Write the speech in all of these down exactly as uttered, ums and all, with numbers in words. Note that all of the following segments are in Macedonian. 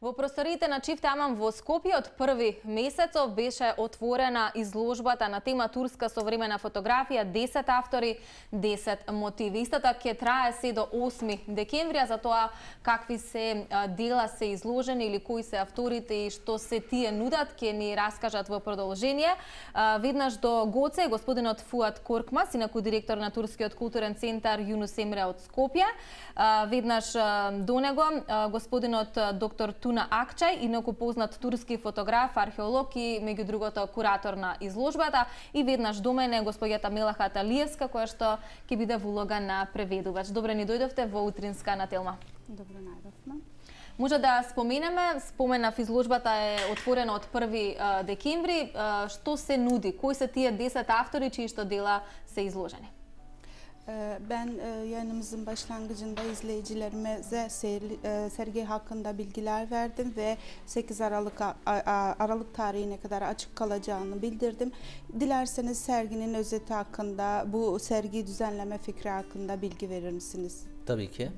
Во просториите на Чифте Аман во Скопје од први месецов беше отворена изложбата на тема турска современа фотографија, десет автори, десет мотиви. Истата ќе трае се до осми декември, а за тоа какви се дела се изложени или кои се авторите и што се тие нудат, ќе ни раскажат во продолжение. Веднаш до Гоце господинот Фуат Коркмас, инаку директор на Турскиот културен центар Юнус Емре од Скопје. Веднаш до него господинот доктор Туна Акчај, инаку познат турски фотограф, археолог и меѓу другото куратор на изложбата, и веднаш до мене госпоѓата Мелаха Талиевска, која што ќе биде во улога на преведувач. Добре ни дојдовте во утринска на Телма. Добре најдовме. Може да споменеме, споменав изложбата е отворена од први декември. Што се нуди? Кои се тие десет автори чии што дела се изложени? Ben yayınımızın başlangıcında izleyicilerimize sergi hakkında bilgiler verdim ve sekiz Aralık Aralık tarihine kadar açık kalacağını bildirdim. Dilerseniz serginin özeti hakkında, bu sergiyi düzenleme fikri hakkında bilgi verir misiniz? Tabii ki.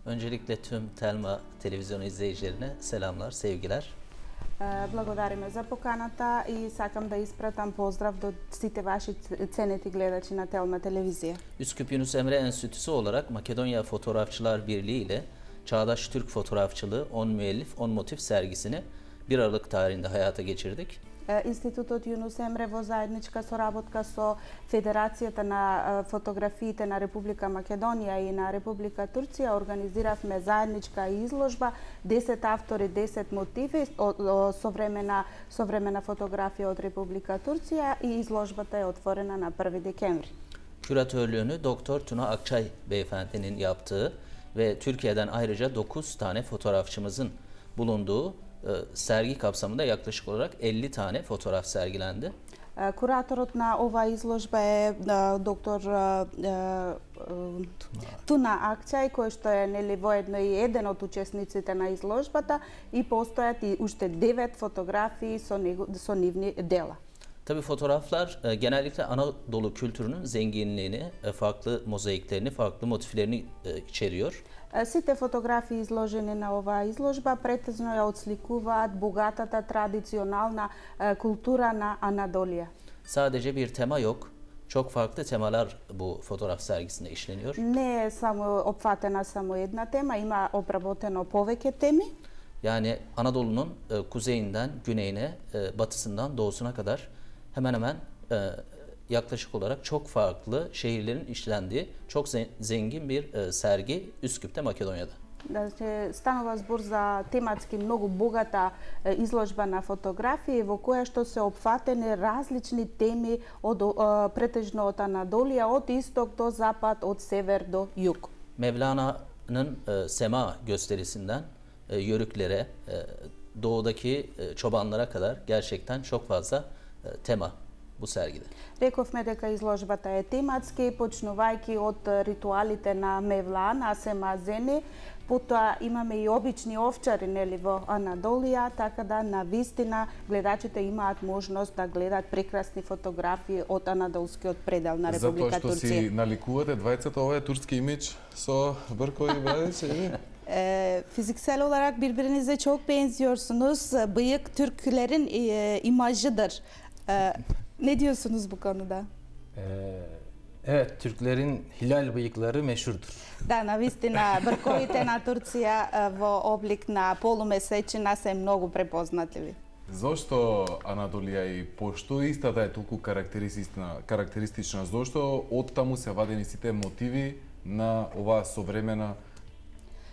Öncelikle tüm Telma televizyonu izleyicilerine selamlar, sevgiler. Благодариме за поканата и сакам да испратам поздрав до сите ваши ценети гледачи на Телма телевизија. Üsküp Yunus Emre Enstitüsü olarak Makedonya Fotoğrafçılar Birliği ile Çağdaş Türk Fotoğrafçılığı on müellif on motif sergisini bir Aralık tarihinde hayata geçirdik. Институтот Юнус Емре во заедничка соработка со Федерацијата на фотографиите на Република Македонија и на Република Турција организиравме заедничка изложба десет автори, десет мотиви современа современа фотографија од Република Турција и изложбата е отворена на први декември. Küratörlüğünü Doktor Tuna Akçay beyefendinin yaptığı ve Türkiye'den ayrıca dokuz tane fotoğrafçımızın bulunduğu sergi kapsamında yaklaşık olarak elli tane fotoğraf sergilendi. Кураторот на ова изложба е доктор Туна Акчај, кој што е нели воедно и еден од учесниците на изложбата, и постојат и уште девет фотографии со, него, со нивни дела. Tabii fotoğraflar genellikle Anadolu kültürünün zenginliğini, farklı mozaiklerini, farklı motiflerini içeriyor. Сите фотографии изложени на оваа изложба претежно ја отсликуваат богатата традиционална култура на Анадолија. Sadece bir tema yok. Çok farklı temalar bu fotoğraf sergisinde işleniyor. Не е само опфатена само една тема, има обработено повеќе теми. Yani Anadolu'nun kuzeyinden güneyine, batısından doğusuna kadar hemen hemen yaklaşık olarak çok farklı şehirlerin işlendiği çok zengin bir sergi Üsküp'te, Makedonya'da. Значи, станува збор за тематски многу богата изложба на фотографии во која што се опфатени различни теми од претежно од Анадолија, од исток до запад, од север до југ. Mevlana'nın Sema gösterisinden yörüklere, doğudaki çobanlara kadar gerçekten çok fazla tema bu sergide. Рековме дека изложбата е тематски, почнувајќи од ритуалите на Мевлана, Семазени, потоа имаме и обични овчари нели во Анадолија, така да на вистина гледачите имаат можност да гледат прекрасни фотографии од анадолскиот предел на Република Турција. Затоа што си наликувате двајцата овој турски имидж со бъркови брадици? Fiziksel olarak birbirinize çok benziyorsunuz. Bıyık Türklerin imajıdır. Ne diyorsunuz bu konuda? Ee, evet, Türklerin hilal bıyıkları meşhurdur. Да, навистина, брковите на Турција во облик на полумесечина се многу препознатливи. Зошто Анадолија и пошто истата е толку карактеристична, карактеристична? Зошто од таму се вадени сите мотиви на оваа современа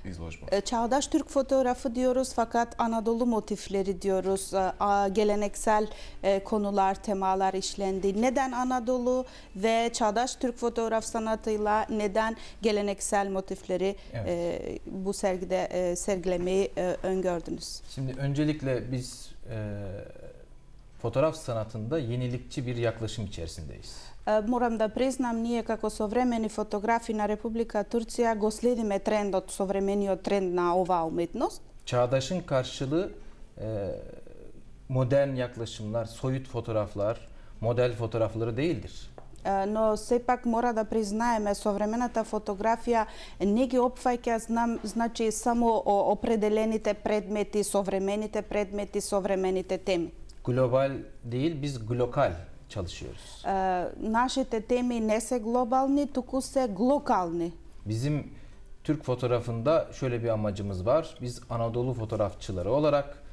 izložba. Çağdaş Türk fotoğrafı diyoruz fakat Anadolu motifleri diyoruz. Geleneksel konular, temalar işlendi. Neden Anadolu ve çağdaş Türk fotoğraf sanatıyla neden geleneksel motifleri evet. bu sergide sergilemeyi öngördünüz? Şimdi öncelikle biz e, fotoğraf sanatında yenilikçi bir yaklaşım içerisindeyiz. Морам да признам, ние како современи фотографи на Република Турција го следиме трендот, современиот тренд на оваа уметност. Çağdaş'ın karşılığı e, modern yaklaşımlar, soyut fotoğraflar, model fotoğrafları değildir. но сепак мора да признаеме современата фотографија не ги опфаќа, знам, значи само определените предмети, современите предмети, современите теми. Global değil, biz glokal çalışıyoruz. Нашите теми не се глобални, туку се глокални. Bizim Türk fotoğrafında şöyle bir amacımız var. Biz Anadolu fotoğrafçıları olarak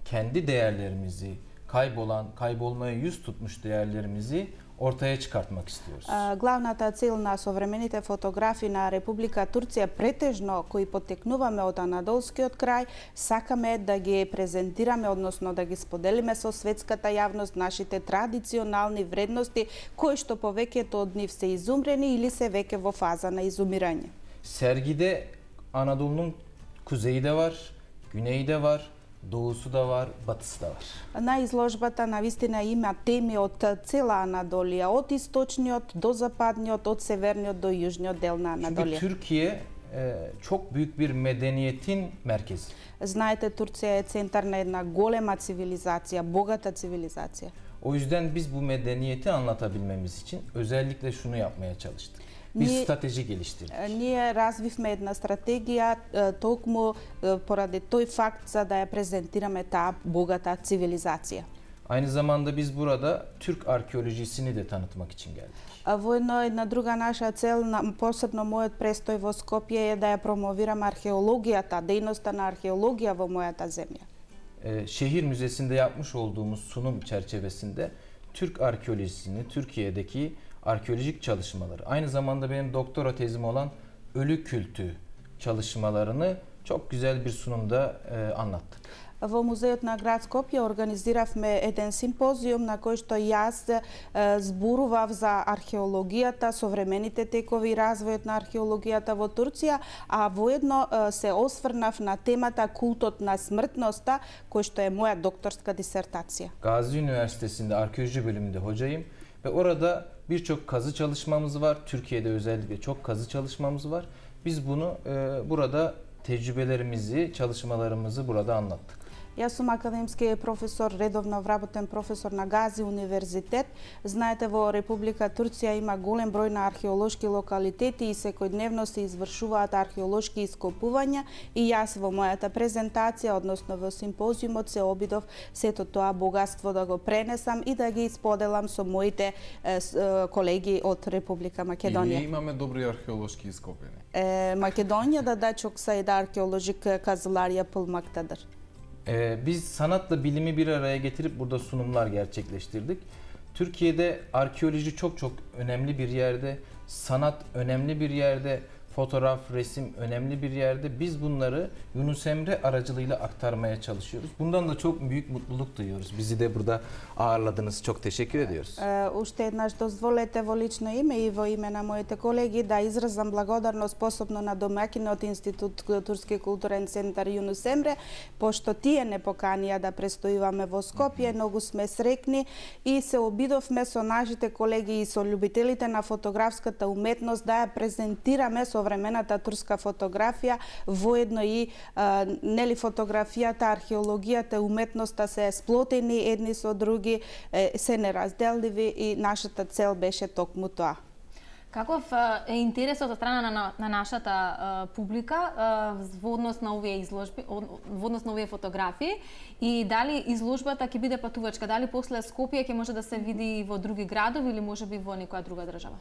kendi değerlerimizi, kaybolan, kaybolmaya yüz tutmuş değerlerimizi ortaya çıkartmak istiyoruz. Главната цел на современите фотографи на Република Турција, претежно кои потекнуваме од Анадолскиот крај, сакаме да ги презентираме, односно да ги споделиме со светската јавност нашите традиционални вредности, кои што повеќето од нив се изумрени или се веќе во фаза на изумирање. Sergide Anadolu'nun kuzeyi de var, güneyi de var, doğusu da var, batısı da var. На изложбата навистина има теми од цела Анадолија, од источниот до западниот, од северниот до јужниот дел на Çünkü Анадолија. Türkiye e, çok büyük bir medeniyetin merkezi. Знаете, Турција е центар на една голема цивилизација, богата цивилизација. O yüzden biz bu medeniyeti anlatabilmemiz için özellikle şunu yapmaya çalıştık. Bir Ние- strateji geliştirdik. Ние развивме една стратегија токму поради тој факт за да ја презентираме таа богата цивилизација. Aynı zamanda biz burada Türk arkeolojisini de tanıtmak için geldik. А воедно една друга наша цел, на- посебно мојот престој во Скопје е да ја промовирам археологијата, дејноста на археологија во мојата земја. Ee, şehir Müzesi'nde yapmış olduğumuz sunum çerçevesinde Türk arkeolojisini, Türkiye'deki arkeolojik çalışmaları, aynı zamanda benim doktora tezim olan ölü kültü çalışmalarını çok güzel bir sunumda e, anlattık. Во музеот на град Скопје организиравме еден симпозиум на кој што јас е, зборував за археологијата, современите текови и развојот на археологијата во Турција, а воедно е, се осврнав на темата култот на смртноста, кој што е моја докторска дисертација. Gazi Üniversitesi'nde arkeoloji bölümünde hocayım ve orada birçok kazı çalışmamız var. Türkiye'de özellikle çok kazı çalışmamız var. Biz bunu e, burada tecrübelerimizi, çalışmalarımızı burada anlattık. Јас сум академски професор, редовно вработен професор на Гази универзитет. Знаете, во Република Турција има голем број на археолошки локалитети и секојдневно се извршуваат археолошки ископувања и јас во мојата презентација, односно во симпозиумот, се обидов сето тоа богатство да го пренесам и да ги споделам со моите е, с, е, колеги од Република И ние Македонија. имаме добри археолошки ископени. Е, Македонија да да çok sayıda arkeolojik kazılar yapılmaktadır. Ee, biz sanatla bilimi bir araya getirip burada sunumlar gerçekleştirdik. Türkiye'de arkeoloji çok çok önemli bir yerde, sanat önemli bir yerde, fotoğraf, resim önemli bir yerde. Biz bunları Yunus Emre aracılığıyla aktarmaya çalışıyoruz. Bundan da çok büyük mutluluk duyuyoruz. Bizi de burada ağırladınız. Çok teşekkür ediyoruz. Е, Уште еднаш дозволете во лично име и во име на моите колеги да изразам благодарност посебно на домаќинот Институт Турски културен центар Јунус Емре, пошто тие не поканија да престојуваме во Скопје. Многу сме срекни и се обидовме со нашите колеги и со љубителите на фотографската уметност да ја презентираме современата турска фотографија, воедно и а, нели фотографијата, археологијата, уметноста се сплотени едни со други, е, се неразделливи и нашата цел беше токму тоа. Каков е интересот од страна на, на нашата а, публика а, во однос на овие изложби, во однос на овие фотографии и дали изложбата ќе биде патувачка, дали после Скопје ќе може да се види и во други градови или можеби во некоја друга држава?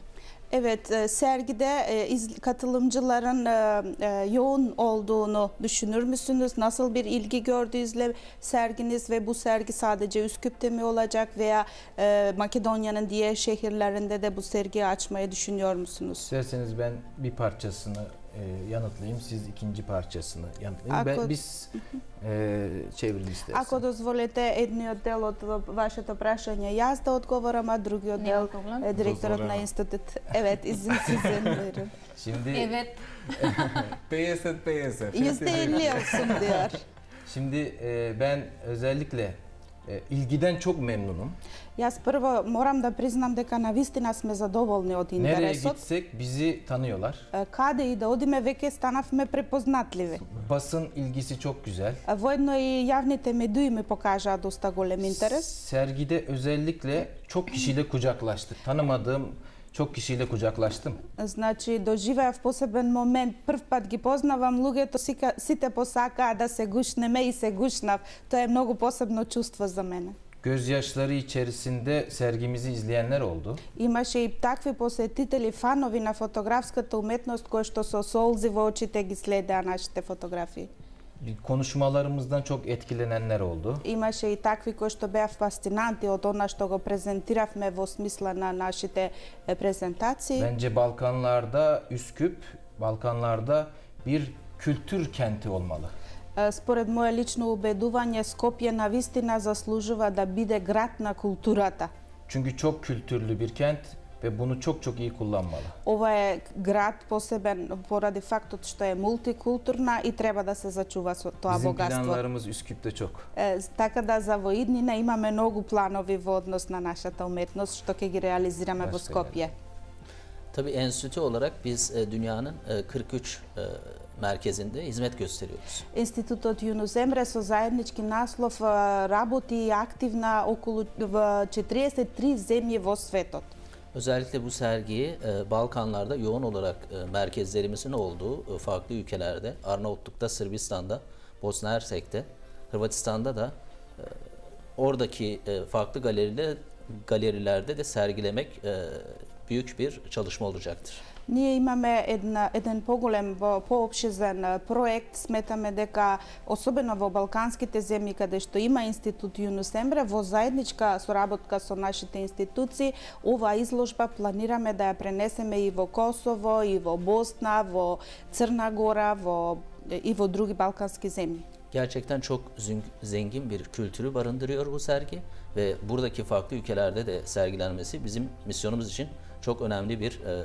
Evet, e, sergide e, iz- katılımcıların e, e, yoğun olduğunu düşünür müsünüz? Nasıl bir ilgi gördü izle serginiz ve bu sergi sadece Üsküp'te mi olacak veya e, Makedonya'nın diğer şehirlerinde de bu sergiyi açmayı düşünüyor musunuz? İsterseniz ben bir parçasını e, yanıtlayayım, siz ikinci parçasını yanıtlayın. Ben, Ako- biz e, çevirin isterseniz. Ако дозволите едниот дел од вашето прашање јас да одговорам, а другиот Нема дел проблем. е директорот на Дозволено. институт. Evet, izin sizin buyurun. Şimdi Evet. петдесет петдесет. Yüzde elli olsun diyor. şimdi e, ben özellikle e, ilgiden çok memnunum. Јас прво морам да признам дека навистина сме задоволни од Nereye интересот. gitsek bizi tanıyorlar. Е, Каде и да одиме веќе станавме препознатливи. Basın ilgisi çok güzel. А Воедно и јавните медии ми покажаа доста голем интерес. Sergide özellikle çok kişiyle kucaklaştık. Tanımadığım çok kişiyle kucaklaştım. Значи, доживеав посебен момент. Прв пат ги познавам луѓето, сика- сите посакаа да се гушнеме и се гушнав. Тоа е многу посебно чувство за мене. Gözyaşları içerisinde sergimizi izleyenler oldu. Имаше и такви посетители, фанови на фотографската уметност, кои што со солзи во очите ги следеа нашите фотографии. Konuşmalarımızdan çok etkilenenler oldu. Имаше и такви кои што беа фасцинанти од она што го презентиравме во смисла на нашите е, презентации. Bence Balkanlarda Üsküp, Balkanlarda bir kültür kenti olmalı. Е, Според мое лично убедување, Скопје навистина заслужува да биде град на културата. Çünkü çok kültürlü bir kent ve bunu çok çok iyi kullanmalı. Ова е град посебен поради фактот што е мултикултурна и треба да се зачува со тоа Bizim богатство. planlarımız Üsküp'te çok. Е, така да за во иднина имаме многу планови во однос на нашата уметност што ќе ги реализираме во Başka Скопје. Tabii enstitü olarak biz e, dünyanın e, kırk üç e, merkezinde hizmet gösteriyoruz. Институтот Јунус Емре со заеднички наслов е, работи активна околу во четириесет и три земји во светот. Özellikle bu sergiyi e, Balkanlarda yoğun olarak e, merkezlerimizin olduğu e, farklı ülkelerde, Arnavutluk'ta, Sırbistan'da, Bosna Hersek'te, Hırvatistan'da da e, oradaki e, farklı galeriler, galerilerde de sergilemek e, büyük bir çalışma olacaktır. Ние имаме една, еден поголем, поопшизен е, проект. Сметаме дека, особено во балканските земји, каде што има институт Јунус Емре, во заедничка соработка со нашите институции, ова изложба планираме да ја пренесеме и во Косово, и во Босна, во Црна Гора, во, и во други балкански земји. Gerçekten çok zün- zengin bir kültürü barındırıyor bu sergi ve buradaki farklı ülkelerde de sergilenmesi bizim misyonumuz için çok önemli bir e,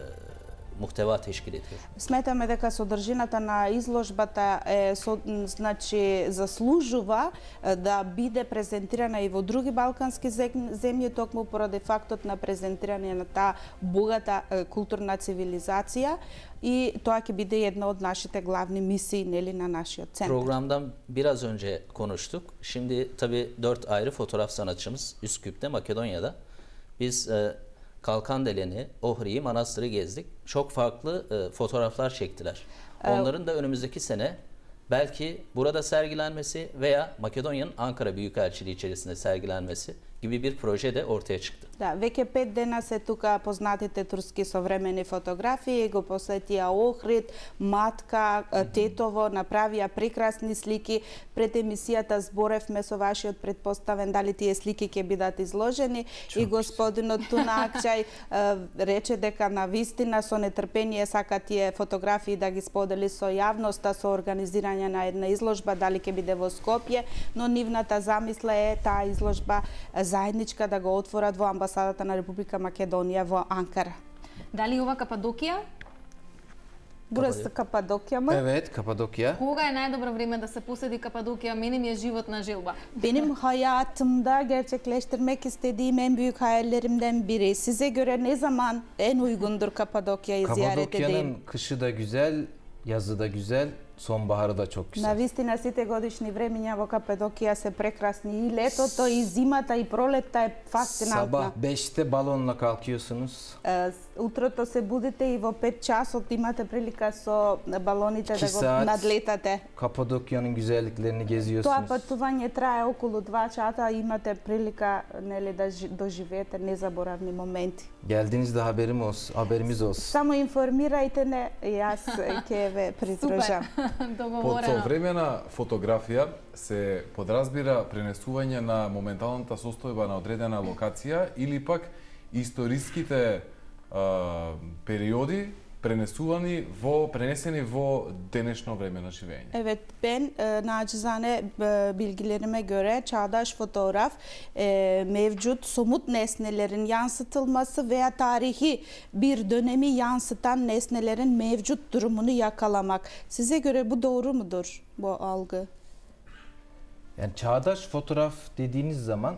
muhteva teşkil ediyor. Сметаме дека содржината на изложбата е со, значи заслужува е, да биде презентирана и во други балкански зем- земји, токму поради фактот на презентирање на таа богата е, културна цивилизација, и тоа ќе биде една од нашите главни мисии, нели, на нашиот центар. Programdan biraz önce konuştuk. Şimdi tabii dört ayrı fotoğraf sanatçımız Üsküp'te, Makedonya'da. Biz e, Kalkandelen'i, Ohri'yi, Manastır'ı gezdik. Çok farklı e, fotoğraflar çektiler. Onların da önümüzdeki sene belki burada sergilenmesi veya Makedonya'nın Ankara Büyükelçiliği içerisinde sergilenmesi gibi bir proje de ortaya çıktı. Да, веќе пет дена се тука познатите турски современи фотографии, го посетија Охрид, Матка, Тетово, направија прекрасни слики. Пред емисијата зборевме со вашиот предпоставен дали тие слики ќе бидат изложени и господинот Туна Акчај рече дека на вистина со нетрпение сака тие фотографии да ги сподели со јавноста со организирање на една изложба, дали ќе биде во Скопје, но нивната замисла е таа изложба заедничка да го отворат во амбасадата на Република Македонија во Анкара. Дали ова Кападокија? Бурас Кападокија ма? Evet, Kapadokya. Кога е најдобро време да се поседи Кападокија? Мене ми е животна желба. Benim hayatımda gerçekleştirmek istediğim en büyük hayallerimden biri. Size göre ne zaman en uygundur Kapadokya'yı ziyaret edeyim? Kapadokya'nın kışı da güzel, yazı da güzel, sonbaharı da çok güzel. Навистина сите годишни времиња во Кападокија се прекрасни, и летото, и зимата, и пролетта е фасцинантна. Sabah beşte balonla kalkıyorsunuz. Е, Утрото се будите и во пет часот имате прилика со балоните Iki да го saat. надлетате. Kapadokya'nın güzelliklerini Тоа geziyorsunuz. патување трае околу два часа, имате прилика, нели, да жи- доживеете незаборавни моменти. Geldiğinizde haberim olsun, haberimiz olsun. Само информирајте не, јас ќе ве придружам. Под Договорено. современа фотографија се подразбира пренесување на моменталната состојба на одредена локација или пак историските а, периоди пренесувани во пренесени во денешно време на живење. Evet, ben e, nacizane e, bilgilerime göre çağdaş fotoğraf e, mevcut somut nesnelerin yansıtılması veya tarihi bir dönemi yansıtan nesnelerin mevcut durumunu yakalamak. Size göre bu doğru mudur, bu algı? Yani çağdaş fotoğraf dediğiniz zaman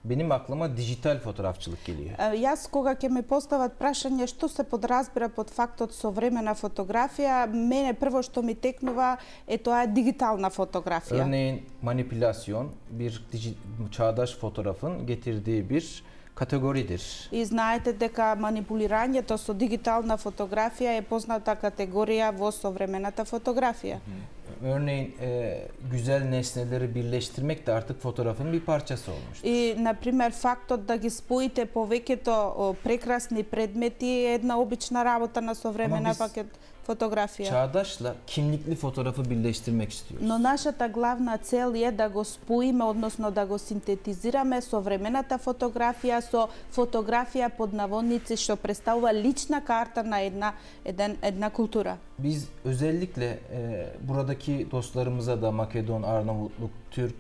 benim aklıma dijital fotoğrafçılık geliyor. E, Јас кога ќе ме постават прашање што се подразбира под фактот современа фотографија, мене прво што ми текнува е тоа е дигитална фотографија. Örneğin manipülasyon bir diji- çağdaş fotoğrafın getirdiği bir kategoridir. И знаете дека манипулирањето со дигитална фотографија е позната категорија во современата фотографија. Örneğin e, güzel nesneleri birleştirmek de artık fotoğrafın bir parçası olmuştur. И, например, фактот да ги споите повеќето прекрасни предмети е една обична работа на современа biz- пакет фотографија. Çağdaş'la kimlikli fotoğrafı birleştirmek istiyoruz. Но нашата главна цел е да го споиме, односно да го синтетизираме современата фотографија со фотографија под наводници што представува лична карта на една еден, една култура. Biz özellikle e, buradaki dostlarımıza da Makedon, Arnavutluk, Türk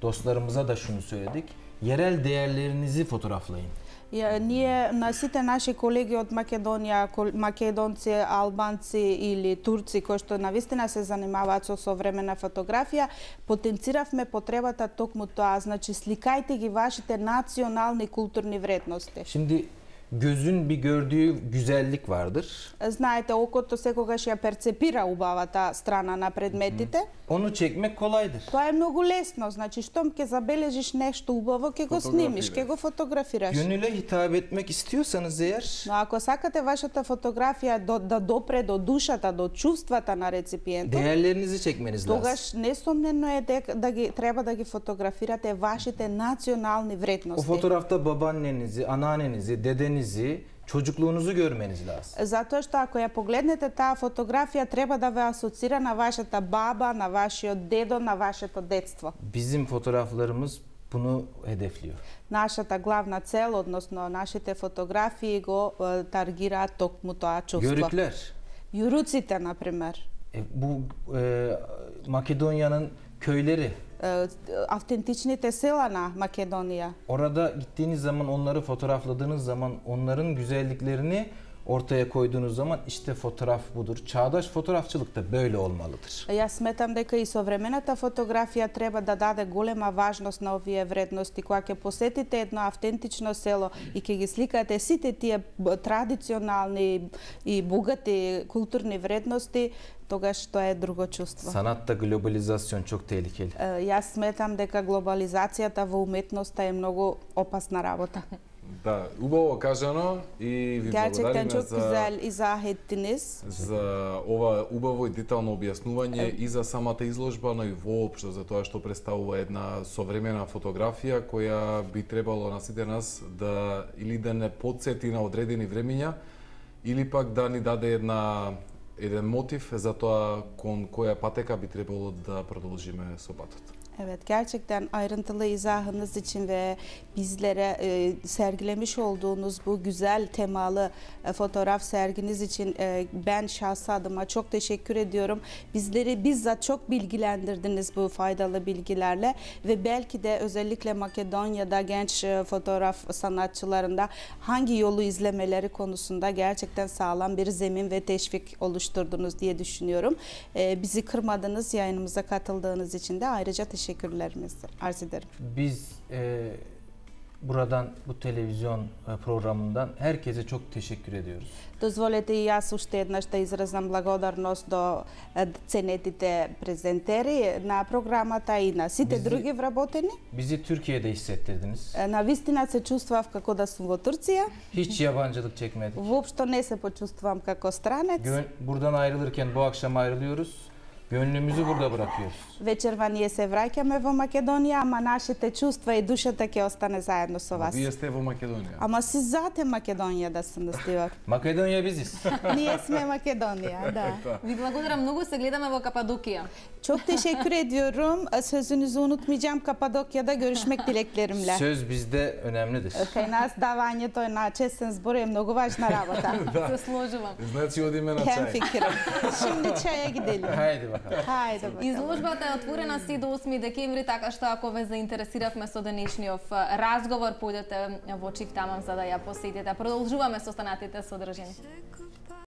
dostlarımıza da şunu söyledik. Yerel değerlerinizi fotoğraflayın. Ја, ние на сите наши колеги од Македонија, кол- македонци, албанци или турци кои што навистина се занимаваат со современа фотографија, потенциравме потребата токму тоа, значи сликајте ги вашите национални културни вредности. Şimdi gözün bir gördüğü güzellik vardır. Знаете, окото секогаш ја перцепира убавата страна на предметите. Onu çekmek kolaydır. Тоа е многу лесно, значи штом ќе забележиш нешто убаво, ќе го снимиш, ќе го фотографираш. Gönüle hitap etmek istiyorsanız eğer Но ако сакате вашата фотографија до, да допре до душата, до чувствата на реципиентот, değerlerinizi çekmeniz lazım. тогаш несомнено е дека да ги треба да ги фотографирате вашите национални O вредности. fotoğrafta babaannenizi, anneannenizi, dedenizi, çocukluğunuzu görmeniz lazım. Затоа што ако ја погледнете таа фотографија, треба да ве асоцира на вашата баба, на вашиот дедо, на вашето детство. Bizim fotoğraflarımız bunu hedefliyor. Нашата главна цел, односно нашите фотографии го е, таргираат токму тоа чувство. Yörükler. Јуруците, например. E, bu e, Makedonya'nın köyleri. Е, автентичните села на Македонија. Orada gittiğiniz zaman, onları fotoğrafladığınız zaman, onların güzelliklerini ortaya koyduğunuz zaman işte fotoğraf budur. Çağdaş fotoğrafçılık da böyle olmalıdır. Јас сметам дека и современата фотографија треба да даде голема важност на овие вредности. Кога ќе посетите едно автентично село и ќе ги сликате сите тие б- традиционални и богати културни вредности, тогаш тоа е друго чувство. Sanatta globalizasyon çok tehlikeli. Е, Јас сметам дека глобализацијата во уметноста е многу опасна работа. Да, убаво кажано и ви Gerçekten благодариме çok за güzel izah ettiniz. за ова убаво и детално објаснување и за самата изложба, но и воопшто за тоа што представува една современа фотографија која би требало на сите нас да или да не потсети на одредени времиња или пак да ни даде една еден мотив за тоа кон која патека би требало да продолжиме со патот. Evet, gerçekten ayrıntılı izahınız için ve bizlere e, sergilemiş olduğunuz bu güzel temalı e, fotoğraf serginiz için e, ben şahsi adıma çok teşekkür ediyorum. Bizleri bizzat çok bilgilendirdiniz bu faydalı bilgilerle ve belki de özellikle Makedonya'da genç e, fotoğraf sanatçılarında hangi yolu izlemeleri konusunda gerçekten sağlam bir zemin ve teşvik oluşturdunuz diye düşünüyorum. E, bizi kırmadınız, yayınımıza katıldığınız için de ayrıca teşekkür teşekkürlerimizi arz ederim. Biz e, buradan bu televizyon e, programından herkese çok teşekkür ediyoruz. Дозволете и јас уште еднаш да изразам благодарност до е, ценетите презентери на програмата и на сите Bizi- други вработени. Bizi Türkiye'de hissettirdiniz. Е, На вистина се чувствав како да сум во Турција. Hiç yabancılık çekmedik. Воопшто не се почувствувам како странец. Gön- buradan ayrılırken bu akşam ayrılıyoruz. Gönlümüzü burada bırakıyoruz. Вечерва ние се враќаме во Македонија, ама нашите чувства и душата ќе остане заедно со вас. Вие сте во Македонија. Ама си зате Македонија се настивар. Makedonya biziz. Ние сме Македонија, да. Ви благодарам многу, се гледаме во Кападокија. Çok teşekkür ediyorum. Sözünüzü unutmayacağım. Kapadokya'da görüşmek dileklerimle. Söz bizde önemlidir. Кај нас давањето на честен збор е многу важна работа. Се сложувам. Значи одиме на Хем чај. фикирам. Şimdi çaya gidelim. Haydi bakalım. Хајде бака. Изложбата е отворена си до осми декември, така што ако ве заинтересиравме со денешниот разговор, појдете во Чифтамам за да ја посетите. Продолжуваме со останатите содржини.